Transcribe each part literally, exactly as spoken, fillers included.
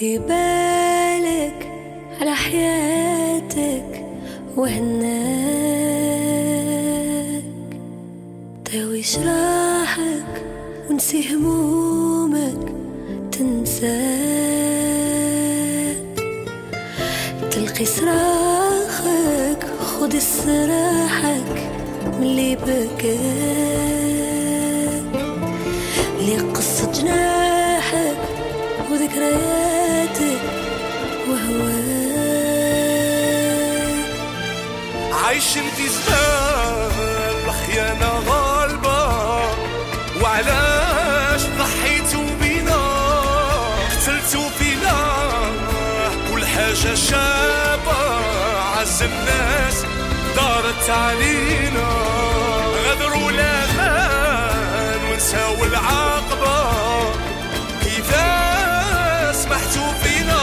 ردي بالك على حياتك وهناك، داوي جراحك ونسي همومك تنساك، تلقي صراخك خد استراحك ملي بكاك، لي قصة جناحك وذكرياتك وهواك. عايشين في زمان الخيانة غالبة، وعلاش ضحيتوا بينا قتلتوا فينا كل حاجة شابة، عز الناس دارت علينا، غدروا الامان ونساو العاقبة، كيفاش سمحتوا فينا،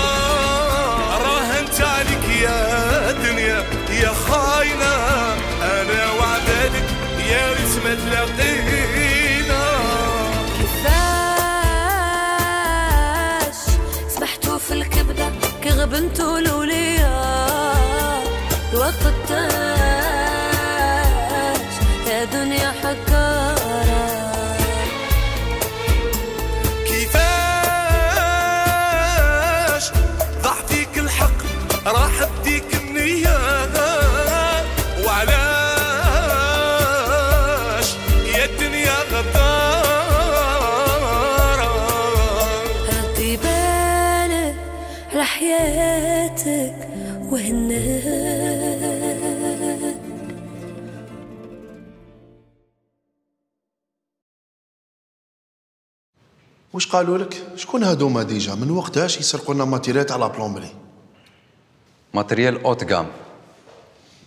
راهنت عليك يا دنيا يا خاينة، انا وعدالك يا ريت ما تلاقينا. كيفاش سمحتوا في الكبدة كي غبنتوا الولياء، الوقت تاج يا دنيا حكارة. كيفاش ضاع فيك الحق راح بديك النية، وعلاش يا الدنيا غدارة. ردي بالك على حياتك وهناك. واش قالوا لك؟ شكون هادوما ديجا؟ من وقتاش يسرقوا لنا ماتيريات على بلومبري؟ ماتريال اوت كام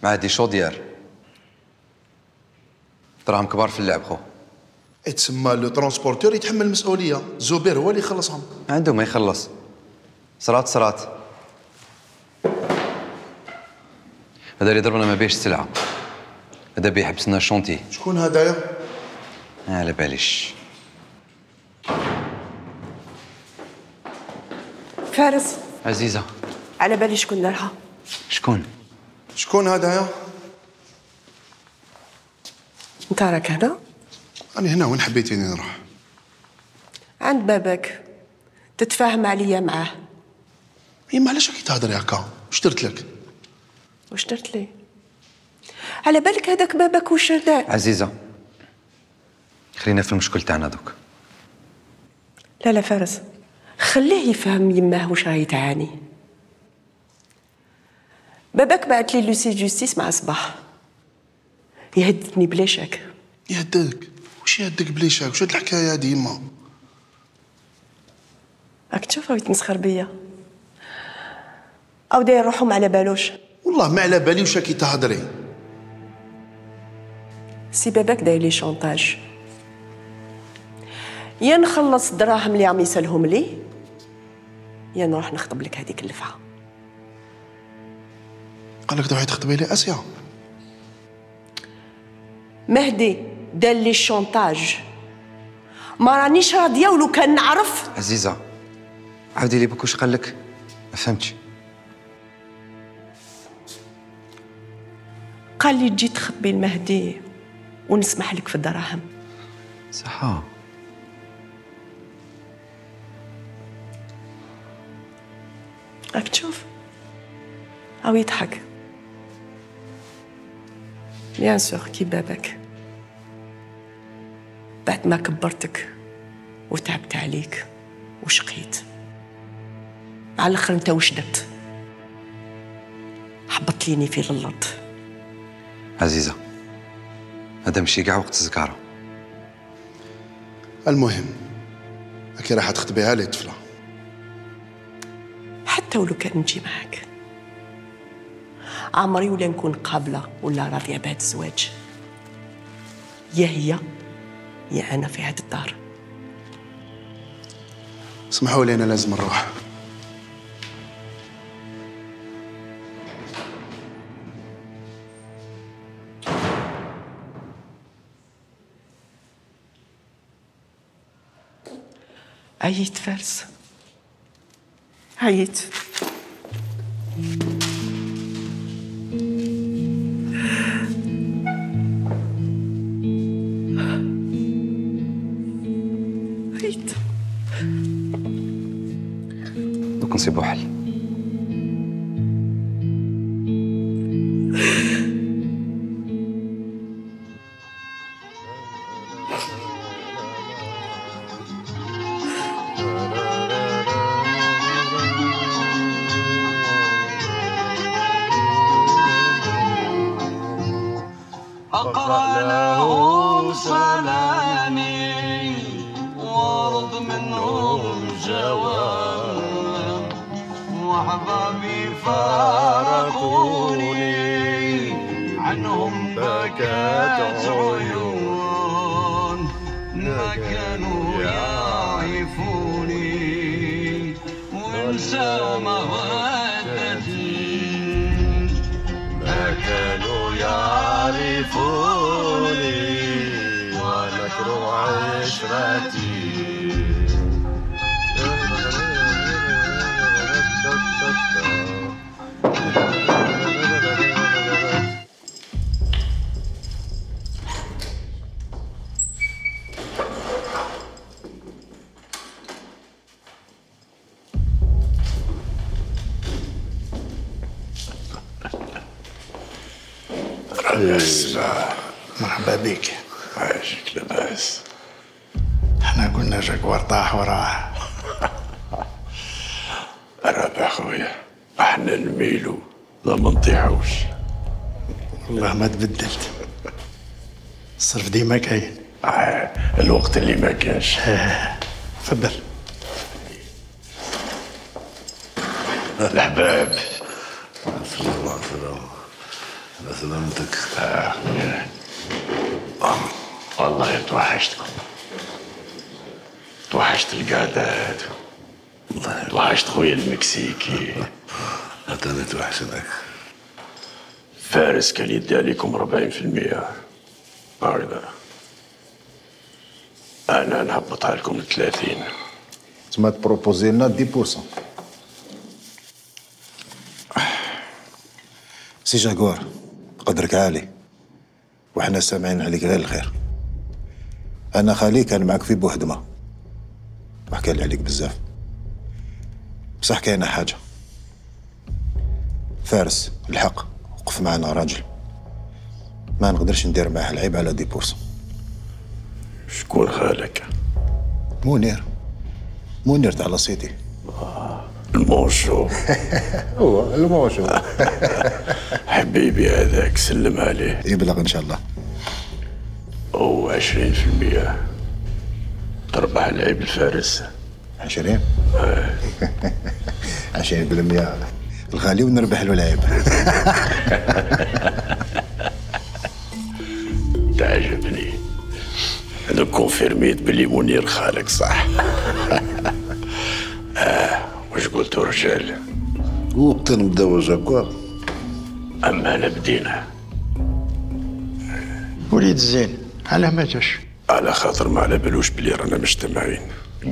مع دي شوديار، دراهم كبار في اللعب خو. يتسمى لو ترونسبورتور يتحمل المسؤوليه، زبير هو اللي يخلصهم. عنده ما يخلص، صرات صرات. هذا اللي ضربنا ما بيش السلعه، هذا بيحبسنا الشونتي. شكون هدايا؟ على باليش. فارس عزيزه، على بالي شكون دارها. شكون؟ شكون هدايا؟ انت راك هنا؟ أنا هنا، وين حبيتيني نروح؟ عند باباك تتفاهم عليا معاه. يما علاش راكي تهضري هكا؟ واش درت لك؟ واش درت لي؟ على بالك هذاك باباك واش دار؟ عزيزه خلينا في المشكل تاعنا دوك. لا لا فارس، خليه يفهم يماه واش راهي تعاني. باباك بعت لي لوسي جوستيس مع صباح يهددني بلا شك. يهددك؟ واش يهددك بلا شك؟ واش هاد الحكايه هادي يما؟ راك تشوف راه يتمسخر بيا او داير روحو ما على بالوش. والله ما على بالي واش راكي تهضري. سي باباك داير لي شونطاج، يا نخلص الدراهم اللي عم يسالهم لي، يا نروح نخطب لك هذيك اللفعه. قال لك تروحي تخطبي لي اسيا؟ مهدي دار لي الشونطاج، ما رانيش راضيه ولو كان نعرف. عزيزه عاودي لي بك واش قال لك؟ ما فهمتش. قال لي تجي تخبي المهدي ونسمح لك في الدراهم. صحا راك تشوف او يضحك. بيان سور كي باباك، بعد ما كبرتك وتعبت عليك وشقيت، على الاخر انت واش درت؟ حبط ليني في الارض. عزيزه هذا ماشي كاع وقت الزكاره. المهم راكي راح تخطبيها لي طفله. حتى ولو كان نجي معاك عمري ولا نكون قابله ولا راضيه بهذا الزواج. يا هي يا انا في هذه الدار. اسمحوا لي انا لازم نروح. عييت فارس، عييت. عييت. دوك نصيبو حل. أقرأ لهم سلامي وارض منهم جواب وأحبابي فارقوني عنهم بكت عيون ما كانوا يعرفوني وانسى مودتي ما كانوا يعرفوني ونكروا عشرتي مرحبا بك. عايشك لاباس. احنا قلنا جاكوار طاح وراه. رابع خويا احنا نميلو لا ما نطيحوش. والله ما تبدلت، الصرف ديما كاين. آه الوقت اللي ما كانش. تفضل. الحباب صلى الله عليه وسلم. على سلامتك. آه. آه. والله توحشتكم، توحشت القعدات، توحشت خويا المكسيكي. أنا توحشنك. فارس كان يدي عليكم أربعين في المية هكذا، أنا نهبطها لكم ل ثلاثين. تما تبروبوزي لنا عشرة بالمية. سي جاكوار قدرك عالي وحنا سامعين عليك غير الخير. انا خالي كان معك في بوهدمه وحكى لي عليك بزاف، بصح كاينه حاجه. فارس الحق وقف معنا راجل، ما نقدرش ندير معاه العيب على عشرة بالمية. شكون خالك؟ منير، منير تاع لاسيتي. المونشو. هو المونشو. حبيبي هذاك سلم عليه. يبلغ ان شاء الله. او عشرين في المية تربح العيب الفارس. عشرين؟ عشرين بالمية الغالي ونربح له العيب. تعجبني. انا كونفيرميت بلي منير خالك صح. آه واش قلتوا رجال؟ وقت نبداو جاكوار. اما انا بدينا. وليد الزين علاه ما جاش؟ على خاطر ما على بالوش بلي رانا مجتمعين.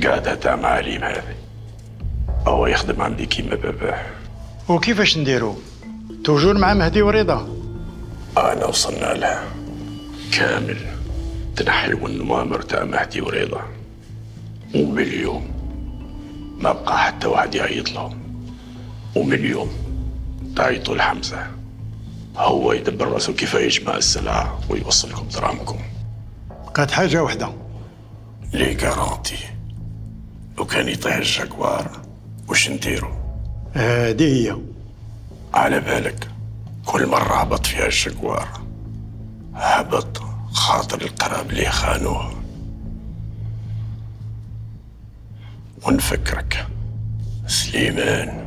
قاعدة تاع معاليم هذه. هو يخدم عندي كيما باباه. وكيفاش نديرو؟ توجور مع مهدي ورضا؟ انا وصلنا لها كامل. تنحيو النوامر تاع مهدي ورضا، ومن اليوم ما بقى حتى واحد يعيط لهم، ومن اليوم تعيطوا لحمزة، هو يدبر راسو كيف يجمع السلعة ويوصلكم دراهمكم. بقات حاجة واحدة. لي كارونتي. لو كان يطيح الجاكوار واش نديرو؟ هادي هي. على بالك كل مرة هبط فيها الجاكوار هبط خاطر القراب اللي خانوه. ونفكرك سليمان،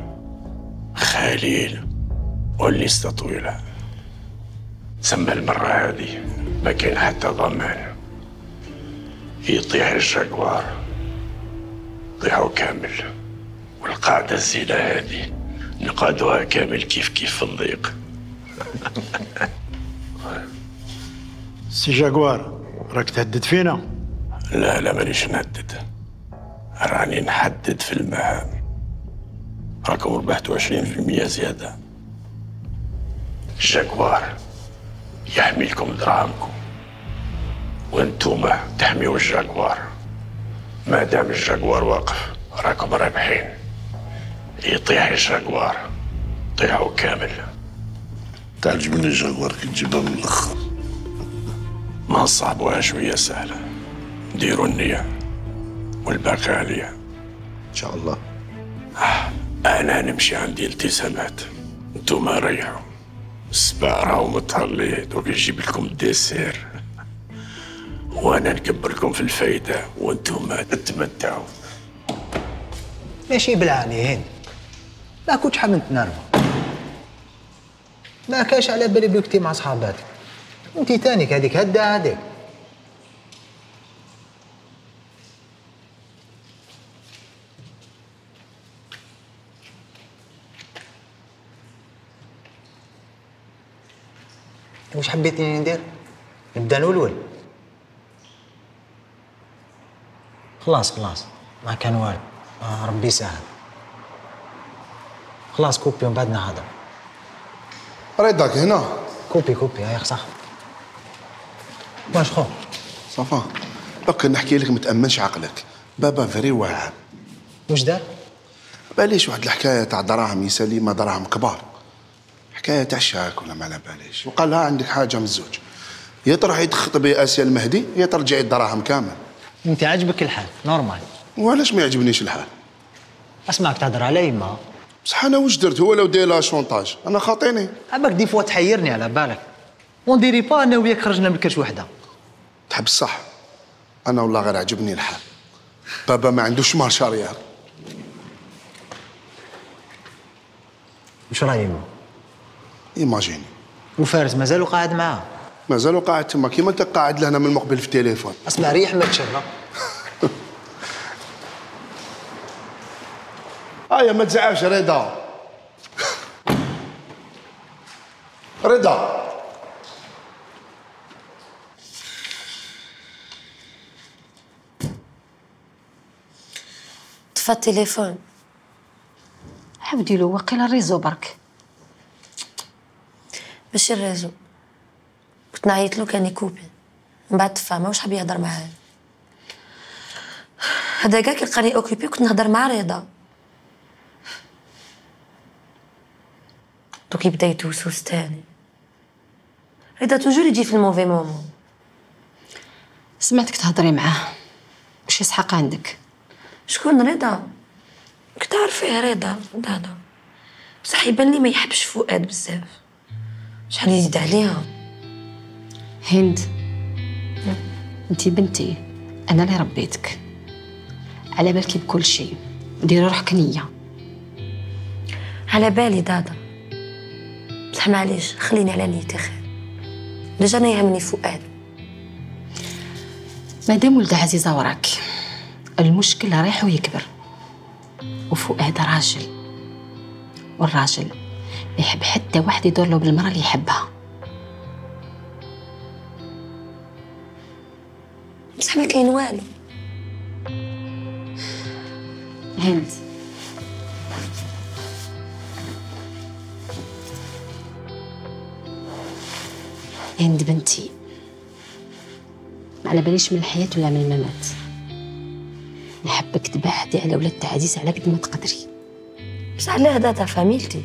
خليل والليستة طويلة. تسمى المرة هذه ما كاين حتى ضمان. يطيح الجاكوار طيحوا كامل، والقاعدة الزينة هذه نقادوها كامل كيف كيف في الضيق. سي جاكوار راك تهدد فينا؟ لا لا مانيش نهدد، راني نحدد في المهام. راكم ربحتوا عشرين في المية زيادة. الجاكوار يحمي لكم دراهمكم وانتوما تحميوا الجاكوار. ما دام الجاكوار واقف راكم رابحين. يطيح الجاكوار طيحوا كامل. تعجبني الجاكوار كي تجيبها من الاخر. ما نصعبوها شوية سهلة. ديروا النية والباقي عليا ان شاء الله. آه. انا نمشي عندي التزامات، انتوما ريحوا. السباع راهو متهلي دوك يجيب لكم الديسير وانا نكبر لكم في الفايدة وانتوما تتمتعوا. ماشي بالعاني هين، ما كنتش حاب نتنرفز، ما كاش على بالي بلوكتي مع صحاباتك، انتي تانيك هذيك هدا هذيك. واش حبيتيني ندير؟ نبدا نولول؟ خلاص خلاص ما كان والو، آه ربي يسهل. خلاص كوبي ومن بعد نهضر. رضاك هنا؟ كوبي كوبي هاي صح. واش خو؟ صافا بقى نحكي لك، متأمنش عقلك. بابا فري واعر. واش دار؟ باليش واحد الحكايه تاع دراهم يسليمه، دراهم كبار، حكايه تاع شاك ولا ما على باليش، وقال لها عندك حاجه من الزوج، يا تروح يتخطبي اسيا المهدي يا ترجعي الدراهم كامل. انت عاجبك الحال نورمال. وعلاش ما يعجبنيش الحال؟ اسمعك تهضر على يما. بصح انا واش درت؟ هو لو داير لها شونطاج انا خاطيني. عباك دي فوا تحيرني على بالك. ونديري با انا وياك خرجنا من كرش وحده. تحب الصح؟ انا والله غير عجبني الحال. بابا ما عندوش مارش اريار. واش راهي يما؟ ايماجيني. وفارس مازالو قاعد معاه؟ مازالو قاعد تما كيما انت قاعد لهنا من المقبل في التليفون. اسمع ريح ما تشرب. هيا ما تزعلش رضا. رضا طفى التليفون. حبدي له واقيلا الريزو برك. ماشي الريزو، كنت نعيط له كان يكوبي من بعد طفى، ما واش حاب يهضر معايا. هذا كاع كي لقاني اوكيبي كنت نهضر مع رضا، دوك يبدا يتوسوس تاني. رضا توجور يجي في الموفي مومون. سمعتك تهضري معاه، واش يسحق عندك؟ شكون رضا؟ كنت عارفاه رضا هذا، بصح يبان لي ما يحبش فؤاد بزاف. شحال يزيد عليها. هند انتي بنتي، انا اللي ربيتك، على بالك بكل شيء، ديري روحك نيه. على بالي دادا، بصح معليش خليني على نيتي خير. ديجا انا يهمني فؤاد. مادام ولد عزيزه وراك، المشكل رايح ويكبر، وفؤاد راجل، والراجل ما يحب حتى واحد يدور له بالمرأة اللي يحبها. بصح ما كاين والو. هند هند بنتي، ما على باليش من الحياة ولا من الممات. نحبك تبعدي على ولاد عزيز على قد ما تقدري. بس على هذا تاع فاميلتي.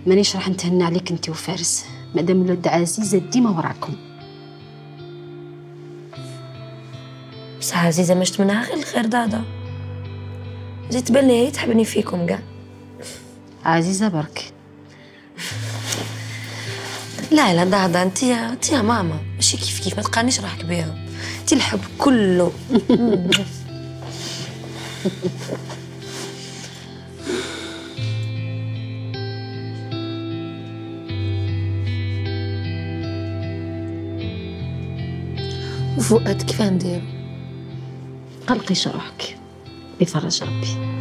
مانيش راح نتهنى عليك انت وفارس، مادام ولاد عزيزة ديما وراكم. بس عزيزة مشت منها غير الخير دادا، زيد تبان لي هي تحبني فيكم كاع. عزيزة برك. لا لا دادا، انت انت يا ماما ماشي كيف كيف، ما تقارنيش روحك بيها. انت الحب كله. وفؤاد كيف نديرو؟ قلقيش روحك، بفرج ربي.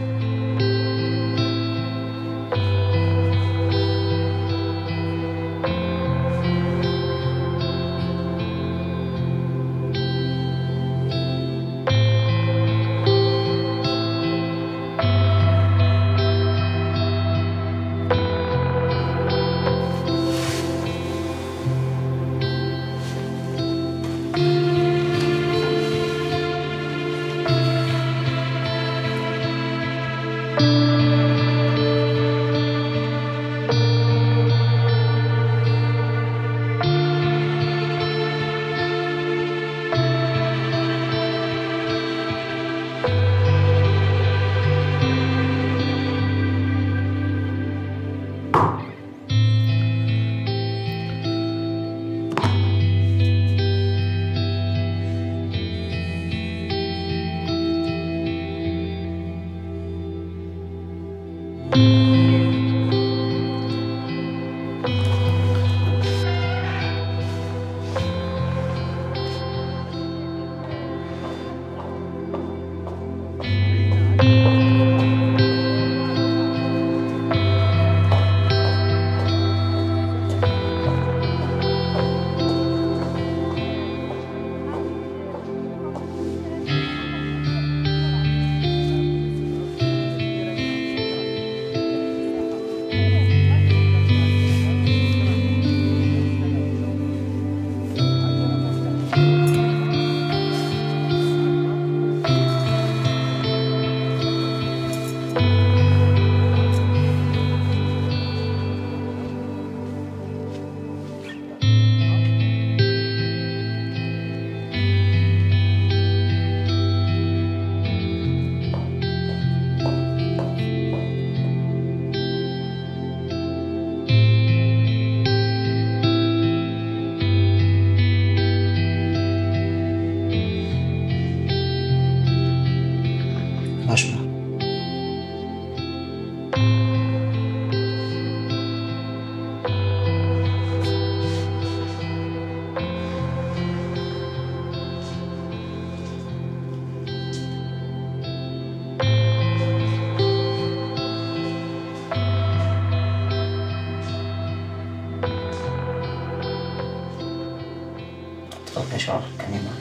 شعور كريمة.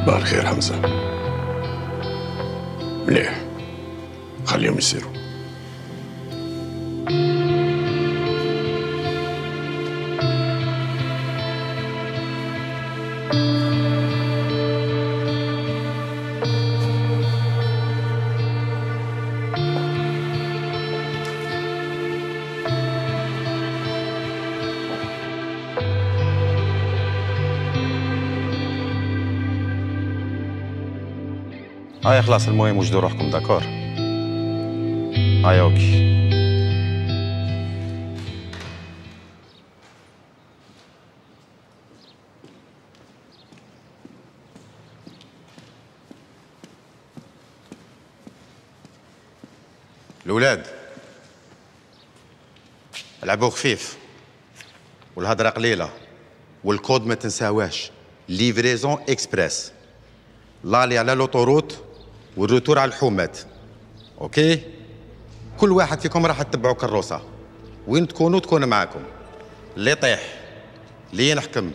صباح الخير حمزة. مليح، خليهم يسيروا. هاي خلاص، المهم وجدوا روحكم. داكور، هاي اوكي. الأولاد لعبوا خفيف والهضرة قليلة والكود ما تنساواش. ليفريزون اكسبريس، لالي على لوطوروت والروتور على الحومات. اوكي، كل واحد فيكم راح تتبعوا كروسه، وين تكونوا تكون معاكم. اللي يطيح، اللي ينحكم،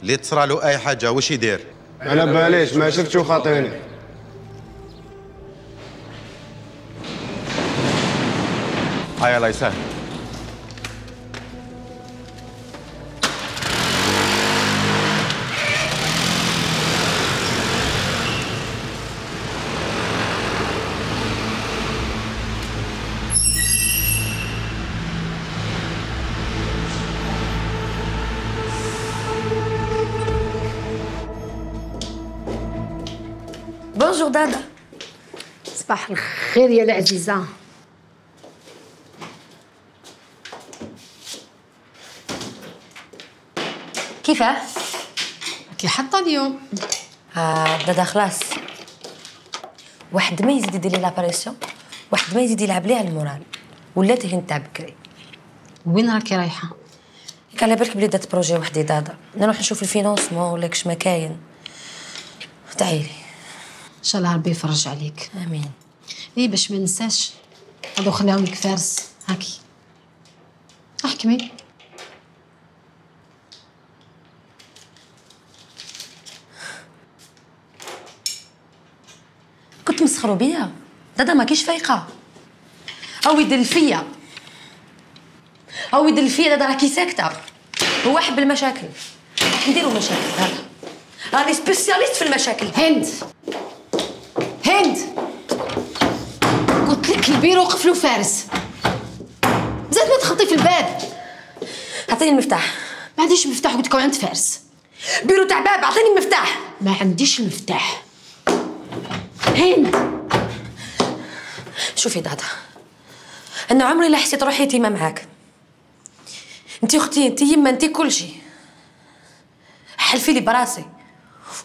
اللي تصرى له اي حاجه واش يدير؟ انا باليش ما شفتش خاطيني. هيا الله يسهل. بونجور دادا. صباح الخير يا العزيزة. كيفاه؟ كي حاطة اليوم. آه دادا خلاص، واحد ما يزيد يدير لي لاباريسيون، واحد ما يزيد يلعب لي على المورال، ولات هي نتاع بكري. وين راكي رايحة؟ ياك على بالك بلي دات بروجي وحدي دادا، نروح نشوف الفينونسمون ولا كش ما كاين. تعالي ان شاء الله ربي يفرج عليك. امين. ايه باش ما ننساش، هادو خليهم لك فارس. هاكي احكمي. كنت مسخروا بيا دادا، ما كيش فايقه. او يدل فيا، او يدل فيا دادا، راكي ساكته. هو حب المشاكل، نديروا مشاكل دادا. راني سبيسياليست في المشاكل. هند هند قلت لك البيرو قفلوا فارس، زاد ما تخطي في الباب. اعطيني المفتاح. ما عنديش مفتاح، قلت لك عند فارس. بيرو تاع باب، اعطيني المفتاح. ما عنديش المفتاح. هند شوفي دادا، انا عمري لا حسيت روحي يتيمه معاك. انتي اختي، انتي يما، انتي كل شيء. حلفي لي براسي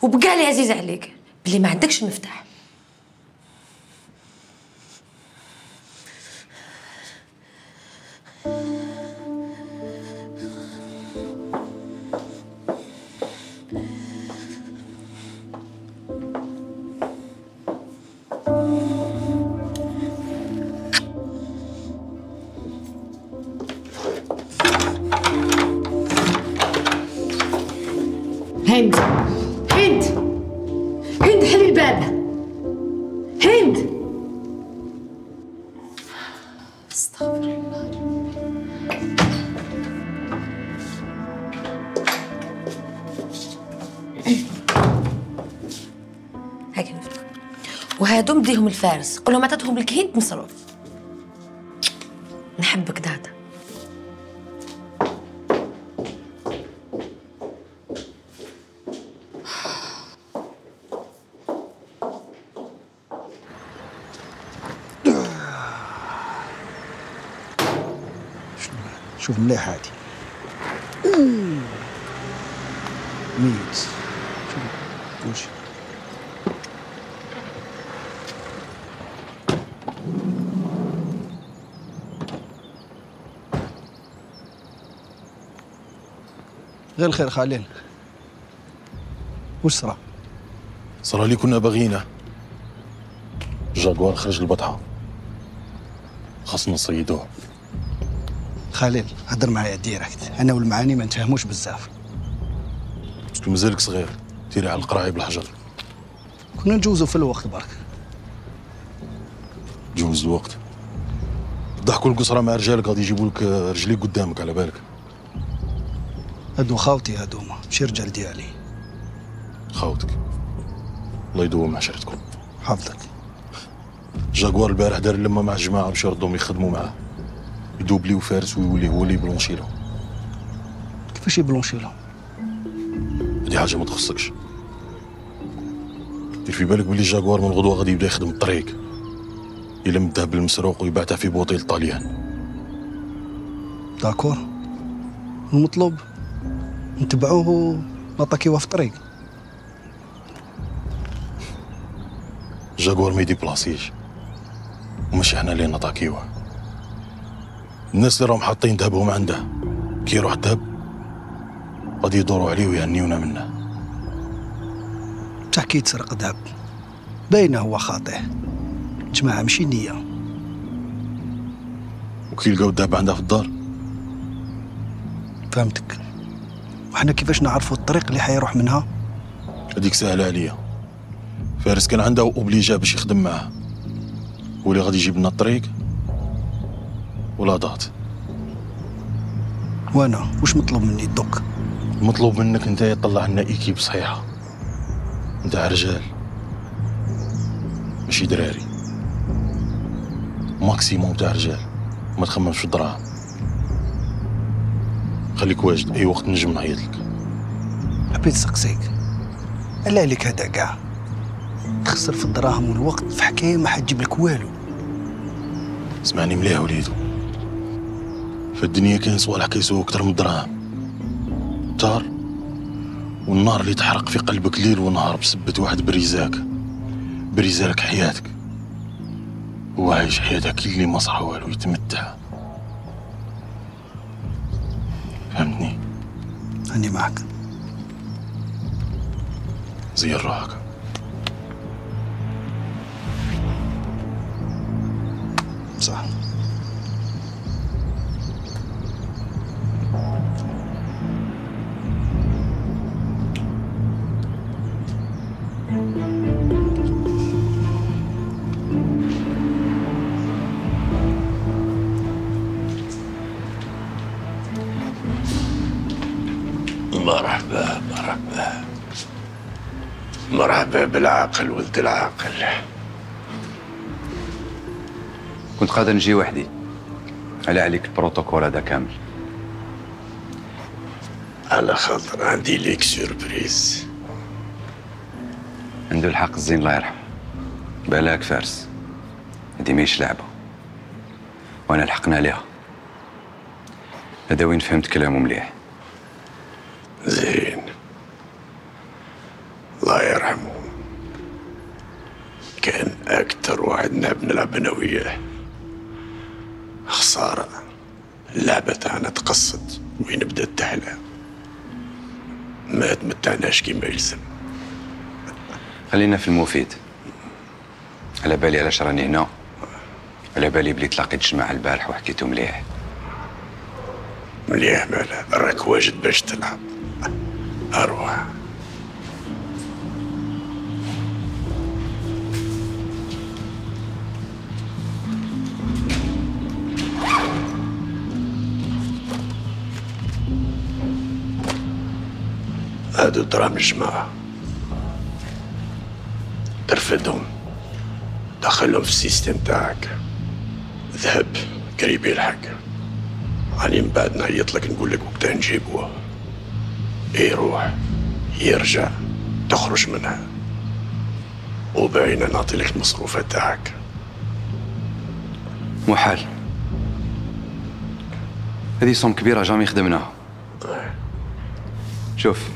وبقى لي عزيز عليك بلي ما عندكش المفتاح. هند هند هند حلي الباب. هند استغفر الله. هاك المفتاح، وهادو مديهم الفارس، قول لهم عطاتهم لك هند مصروف. نحبك دادا. شوف مليح هادي ميت. شوف كلشي غير الخير خالين. وش صرا؟ صرا لي كنا باغيينه، جاكوار خرج البطحه، خاصنا نصيدوه. خليل هدر معايا ديريكت، انا والمعاني ما نتفاهموش بزاف. باسكو مازالك صغير، تيري على القراعي بالحجر. كنا نجوزو في الوقت برك. جوز الوقت؟ ضحكوا القصرى مع رجالك غادي يجيبوا لك رجليك قدامك على بالك. هادو خاوتي هادوما، ماشي رجال ديالي. خاوتك الله يدوم عشرتكم. حافظك. جاكوار البارح دار لما مع الجماعه باش يردهم يخدموا معاه، يدوبليو فارس ويولي هو اللي يبلونشي لهم. كيفاش يبلونشي لهم؟ هادي حاجه ما تخصكش. دير في بالك بلي جاكوار من غدوه غادي يبدا يخدم الطريق، الا مداه بالمسروق ويبعتها في بوطيل طاليان. داكور، المطلوب نتبعوه ونطاكيوه في الطريق. جاكوار ما يديبلاسيش، وماشي حنا اللي نطاكيوه. الناس اللي راهم حاطين ذهبهم عنده كي يروح الذهب غادي يدوروا عليه ويهنيونا منه. بصح كي يتسرق ذهب باينه هو خاطئ، جماعه ماشي نيه. وكي يلقاو الذهب عندها في الدار. فهمتك. وحنا كيفاش نعرفوا الطريق اللي حيروح منها؟ هذيك سهله عليا. فارس كان عنده اوبليجا باش يخدم معاه، هو اللي غادي يجيب لنا الطريق ولا ضغط. وانا واش مطلوب مني دوك؟ مطلوب منك انت تطلع لنا ايكيب صحيحه نتاع رجال ماشي دراري، ماكسيموم تاع رجال، ما تخممش في الدراهم. خليك واجد، اي وقت نجم نعيط لك. حبيت نسقسيك، الا عليك هذا كاع تخسر في الدراهم والوقت في حكايه ما حتجيب لك والو. اسمعني مليح وليدو، في الدنيا كاين صوالح كيسووا اكثر من الدراهم. الدار والنار اللي تحرق في قلبك ليل ونهار بسبة واحد بريزاك، بريزالك حياتك، هو عايش حياتك اللي ما صرا والو، يتمتع. فهمتني؟ أني معك. زين روحك. صح. مرحبا مرحبا مرحبا بالعاقل ولد العاقل. كنت قادر نجي وحدي. على عليك البروتوكول هذا كامل. على خاطر عندي ليك سيربريز. عنده الحق الزين الله يرحمه. بالك فارس، هادي ماهيش لعبة، وانا لحقنا عليها. هذا وين فهمت كلامه مليح. زين، الله يرحمه كان أكتر واحد نحب نلعب أنا وياه. خسارة اللعبة تاعنا تقصد وين بدات تحلى، ما تمتعناش كيما يلزم. خلينا في المفيد. على بالي علاش راني هنا، على بالي بلي تلاقيت الجماعة البارح وحكيتو مليح. مليح مالا، راك واجد باش تلعب. أروح. هادو دراهم الجماعة، ترفدهم دخلهم في السيستم تاعك. ذهب قريب يلحق، علي من بعد نعيط لك نقول لك وقتها نجيبوه. يروح يرجع تخرج منها، وباينة نعطي لك المصروفات تاعك. محال، هذه صوم كبيرة جامي خدمناها. شوف،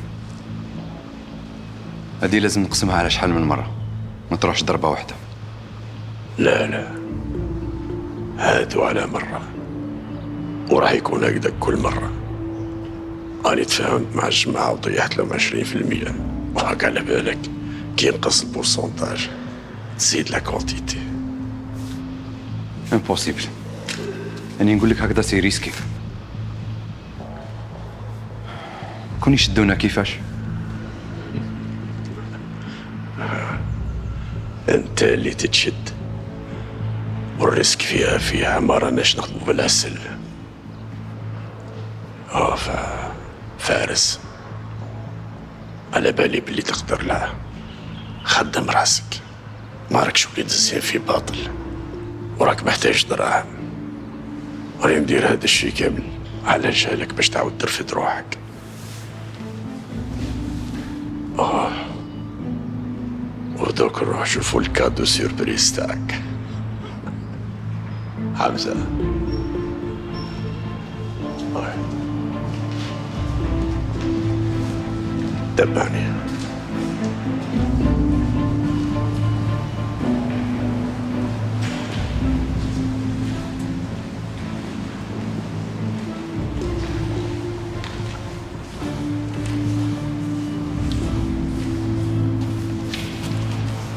هذه لازم نقسمها على شحال من مرة، ما تروحش ضربة واحدة. لا لا، هادو على مرة، وراح يكون هكذا كل مرة. أنا تفاهمت مع الجماعة وطيحت لهم عشرين في المية، وهاك على بالك كي ينقص البورسونتاج تزيد لا كونتيتي. امبوسيبل، يعني نقول لك هكذا سي ريسكي. كون يشدونا كيفاش؟ انت اللي تتشد، والريسك فيها فيها ما راناش نخدمو بالعسل. اه ف فارس، على بالي باللي تقدر. لا، خدم راسك، ما راكش وليد الزين في باطل، وراك محتاج دراهم. راني ندير هذا الشيء كامل على جهلك باش تعاود ترفد روحك. اه ودوك نروح نشوفو الكادو سيربريز تاعك. حمزة، تبعني.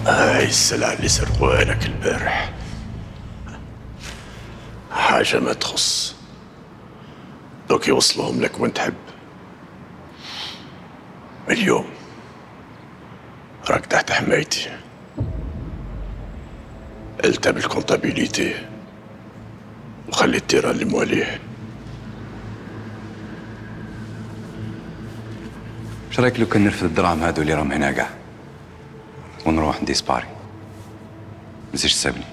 هاي السلعة اللي سرقوها لك البارح حاجة ما تخص، دوك يوصلوهم لك وين تحب. اليوم راك تحت حمايتي، قلتها بالكونتابيليتي وخلي التيران اللي مواليه. اش رايك لو كان نرفد الدراهم هادو اللي راهم هنا كاع ونروح نديسباري؟ مزيش تسابني.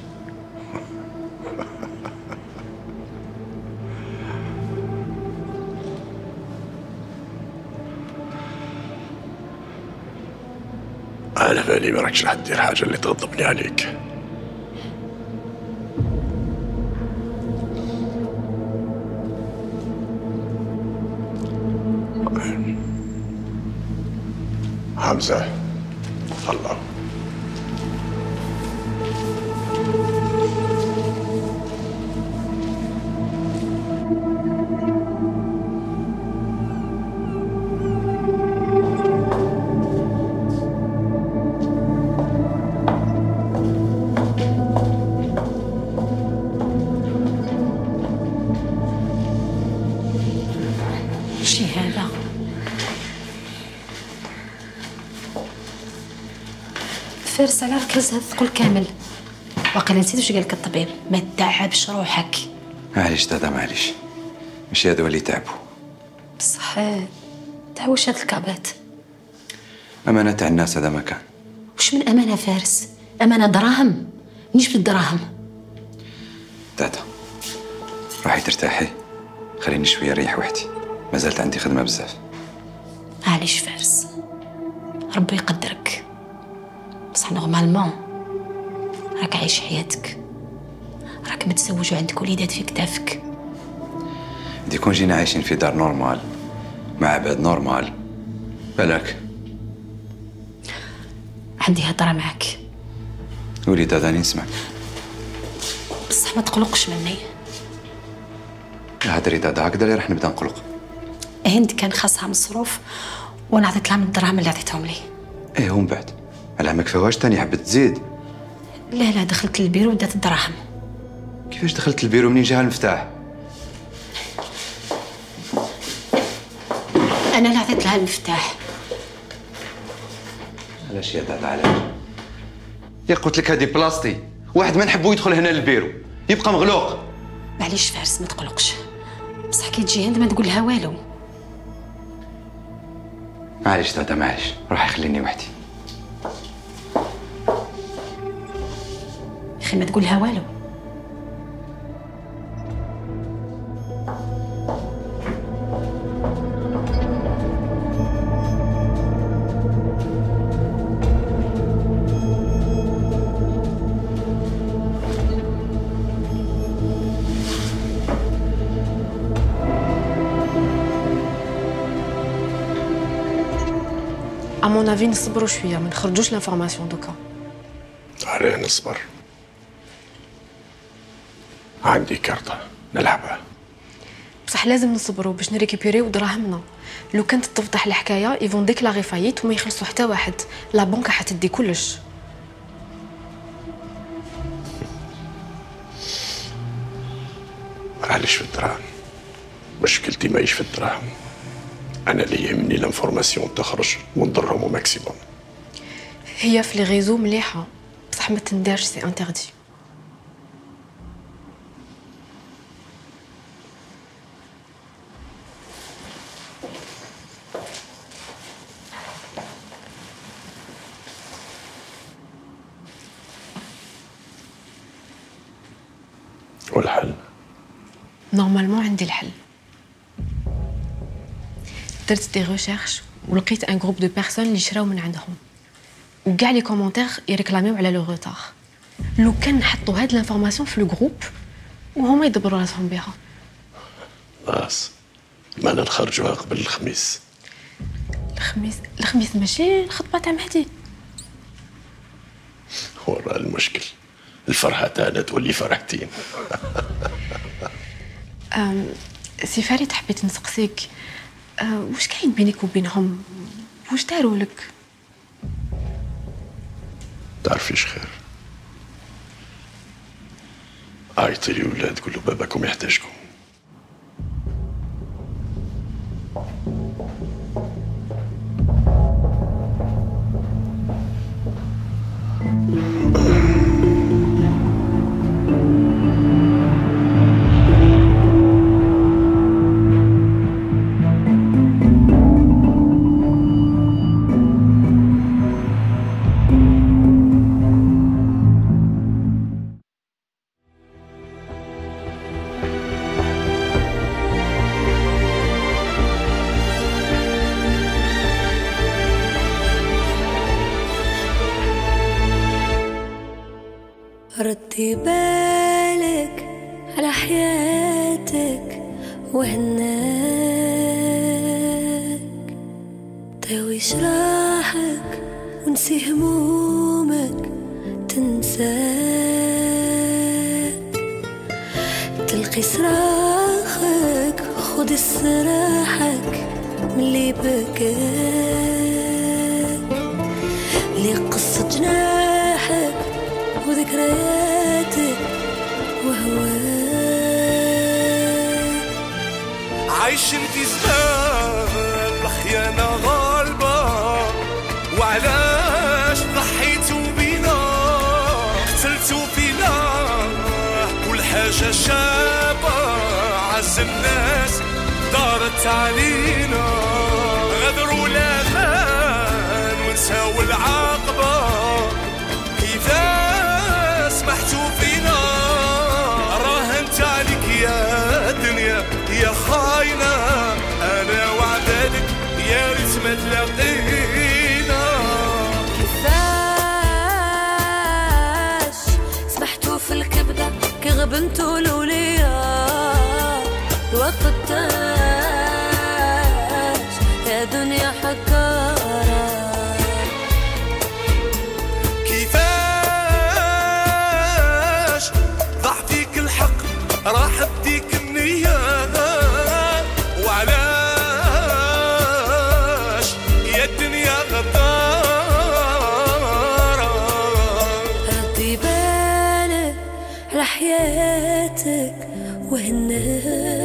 على بالي ما راكش راح تدير حاجة اللي تغضبني عليك. حمزة، الله. شي هذا؟ فارس على ركز هذا الثقل كامل. واقيلا نسيت واش قالك الطبيب، ما تتعبش روحك. معليش دادا معليش، ماشي هذو اللي تعبوا. بصح تاع واش هاد الكابات؟ أمانة تاع الناس هذا ما كان. واش من أمانة فارس؟ أمانة دراهم، مانيش بالدراهم. تاتا روحي ترتاحي، خليني شويه نريح وحدي، مازالت عندي خدمه بزاف. معليش فارس، ربي يقدرك، بصح نورمالمون راك عايش حياتك، راك متزوج وعندك وليدات في كتافك. دي كون جينا عايشين في دار نورمال مع عباد نورمال بالك. عندي هضره معك. قولي تاتا نسمعك. بصح ما تقلقش مني. هدري تاتا هكذا اللي راح نبدا نقلق. هند كان خاصها مصروف وانا عطيت لها من الدراهم اللي عطيتهم لي. ايه ومن بعد على ما كفاوهاش تاني حبت تزيد. لا لا دخلت للبيرو ودات الدراهم. كيفاش دخلت البيرو منين جاها المفتاح؟ انا اللي عطيت لها المفتاح. علاش يا تاتا علاش؟ يا قلت لك هذه بلاصتي، واحد ما نحبو يدخل هنا للبيرو يبقى مغلوق. معليش فارس ما تقلقش، بصح كي تجي هند ما تقول لها والو. معليش تاتا معليش، روحي خليني وحدي. يا اخي ما تقول لها والو. À mon avis نصبروا شويه ما نخرجوش لانفورماسيون دوكا. عليه نصبر. عندي كارطة نلعبها. بصح لازم نصبروا باش نريكيبيريو دراهمنا. لو كانت تفضح الحكايه يفون ديكلاري فايت وما يخلصوا حتى واحد، لا بنك حتدي كلش. معليش في الدراهم، مشكلتي ماهيش في الدراهم، انا اللي يهمني لانفورماسيون تخرج ونضرهم au maximum. هي في لي ريزو مليحه بصح ما تندارش، سي انتردي. والحل؟ نورمالمون عندي الحل. درت دي ريشيرش ولقيت ان جروب دو بيرسون اللي شراو من عندهم، وكاع لي كومونتير يريكلاميو على لو روتار. لو كان نحطوا هاد لانفورماسيون في لو جروب وهما يدبروا راسهم بها. خلاص مانا نخرجوها قبل الخميس. الخميس؟ الخميس ماشي الخطبه تاع مهدي. ورا المشكل الفرحه تاعنا تولي فرحتين. أم سي فريد حبيت نسقسيك، أه واش كاين بينك وبينهم؟ واش داروا لك؟ تعرفيش خير، عيطي لي ولاد قول له باباكم يحتاجكم. ردي بالك على حياتك وهناك، داوي جراحك ونسي همومك تنساك، تلقي صراخك خد استراحك ملي بكاك، لي قصة جناحك وذكرياتك وهواك. عايش انتي زمان الخيانة غالبة، وعلاش ضحيتوا بينا قتلتوا فينا كل حاجة شابة، عز الناس دارت علينا، غدروا الامان ونساو العاقبة، كيفاش سمحتوا فينا راه حياتك وهناك